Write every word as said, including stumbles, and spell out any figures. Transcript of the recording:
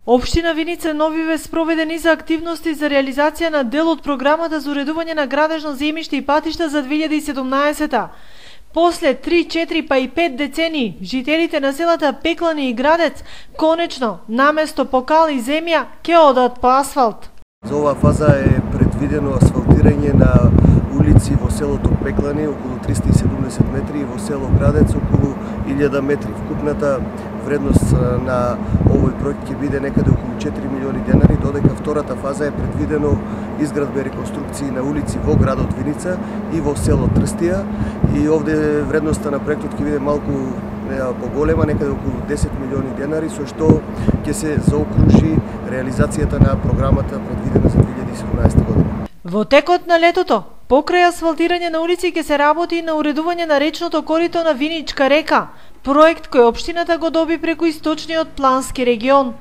Општина Виница Нови Вес проведе низа активности за реализација на дел од програмата за уредување на градежно земјиште и патишта за две илјади и седумнаесета. После три, четири па и пет децении, жителите на селата Пеклани и Градец конечно наместо по кал и земја ќе одат по асфалт. За оваа фаза е предвидено асфалтирање на улици во селото Пеклани околу триста и седумдесет метри и во село Градец околу илјада метри. Вкупната вредност на овој проект ќе биде некаде околу четири милиони денари, додека втората фаза е предвидено изградба и реконструкции на улици во градот Виница и во село Трстија, и овде вредноста на проектот ќе биде малку поголема, некаде околу десет милиони денари, со што ќе се заокружи реализацијата на програмата предвидена за две илјади и седумнаесета година. Во текот на летото, покрај асфалтирање на улици ќе се работи и на уредување на речното корито на Виничка река, проект кој општината го доби преку источниот плански регион.